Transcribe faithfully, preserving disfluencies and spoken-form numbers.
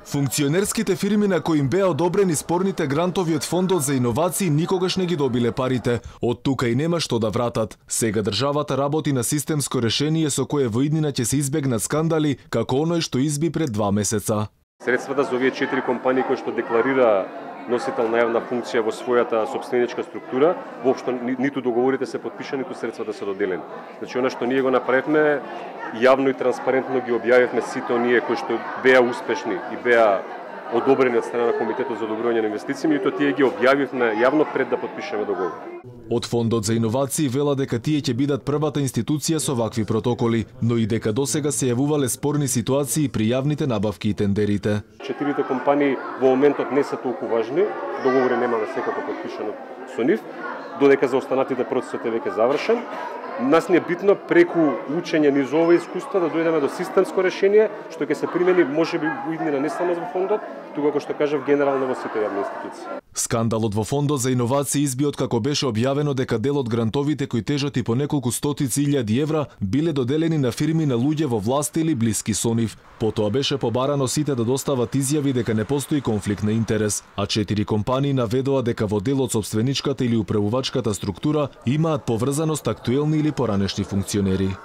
Функционерските фирми на кои им беа одобрени спорните грантови од Фондот за иновации никогаш не ги добиле парите. Од тука и нема што да вратат. Сега државата работи на системско решение со кое во иднина ќе се избегнат скандали, како оној што изби пред два месеца. Средствата за овие четири компании кои што декларира носител на јавна функција во својата сопственичка структура, воопшто ниту договорите се подпишани, ниту средствата се доделени. Значи, она што ние го направивме, јавно и транспарентно ги објавивме сите оние кои што беа успешни и беа одобрени од страна на Комитетот за одобрување на инвестиции, и тоа тие ги објавивме јавно пред да подпишеме договор. Од Фондот за иновации вела дека тие ќе бидат првата институција со вакви протоколи, но и дека досега се јавувале спорни ситуации при јавните набавки и тендерите. Четирите компании во моментот не се толку важни, договори немаме секако подпишано со нив, додека за останатите процесот е веќе завршен. Нас не е битно преку учење низ ова искуство да дојдеме до системско решение, што ќе се примени можеби во иднина не само во фондот, туку како што кажав генерално во сите јавни институции. Скандалот во Фондот за иновации изби од како беше објавено дека дел од грантовите кои тежат и по неколку стотици илјади евра биле доделени на фирми на луѓе во власта или блиски со нив. Потоа беше побарано сите да достават изјави дека не постои конфликт на интерес, а четири компании наведоа дека во дел од сопственичката или управувачката структура имаат поврзаност актуелни или поранешни функционери.